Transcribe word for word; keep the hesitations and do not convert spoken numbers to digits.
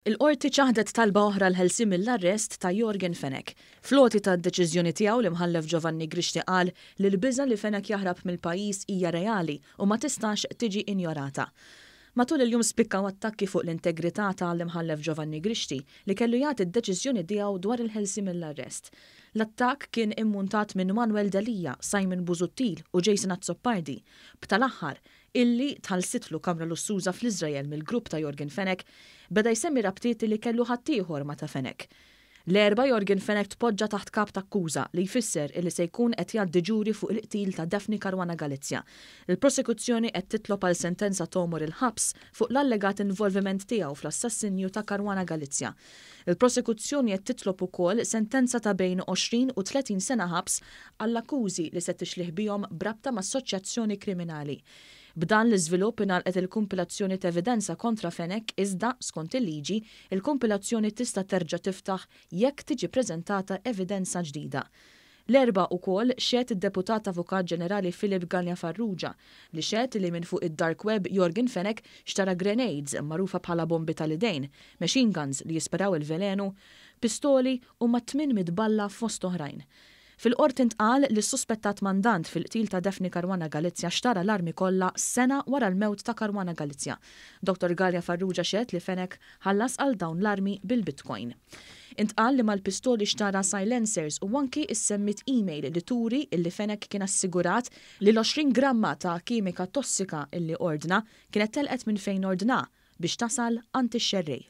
Il-qorti ċaħdet talba oħra l-ħelsien mill-arrest ta' Yorgen Fenech. Fl-għoti tad-deċiżjoni tiegħu, l-Imħallef Giovanni Grixti qal li l-biża li Fenech jaħrab mill-pajjiż hija reali u ma tistax tiġi injorata. Matul il-jum spikkaw attakki fuq l-integrità tal-Imħallef Giovanni Grixti, li kellu jagħti d-deċiżjoni tiegħu dwar il-ħelsien mill-arrest. L-attakk kien immuntat minn Manuel Delia, Simon Busuttil u Jason Azzopardi. B'tal-aħħar, illi tħallsitlu kamra lussuża fl-Iżrael mill-grupp ta' Yorgen Fenech, beda jsemmi rabtiet li kellu ħaddieħor ma' ta' Fenech. L-Erbgħa Yorgen Fenech tpoġġa taħt kap ta' akkuża, li jfisser illi se jkun qed jgħaddi ġuri fuq il-qtil ta' Daphne Caruana Galizia. Il-prosekuzzjoni qed titlob għal sentenza t'għomor il-ħabs fuq l-allegat involviment tiegħu fl-assassinju ta' Caruana Galizia. Il-prosekuzzjoni qed titlob ukoll sentenza ta' bejn għoxrin u tletin sena ħabs għall-akkużi li se tixlih bihom b'rabta ma' assoċjazzjoni kriminali. B'dan l-iżvilupp ingħalqet il-kumpilazzjoni ta' evidenza kontra Fenech, iżda skont il-liġi, il-kumpilazzjoni tista' terġa' tiftaħ jekk tiġi preżentata evidenza ġdida. L-Erbgħa ukoll xehed id-Deputat Avukat Ġenerali Philip Galea Farrugia, li xehed li minn fuq id-dark web Yorgen Fenech xtara grenades, magħrufa bħala bombi tal-idejn, machine guns li jisparaw il-velenu, pistoli u ma' tmien mitt balla, fost oħrajn. Fil-qorti ntqal li s-suspettat mandant fil-qtil ta' Daphne Caruana Galizia xtara l-armi kollha sena wara l-mewt ta' Caruana Galizia. Doktor Galea Farrugia xehed li Fenech ħallas għal dawn l-armi bil-Bitcoin. Intqal li mal-pistoli xtara silencers u anki issemmit email li turi illi Fenech kien assigurat li l-għoxrin gramma ta' kimika tossika illi ordna kienet telqet minn fejn ordna biex tasal għand ix-xerrej.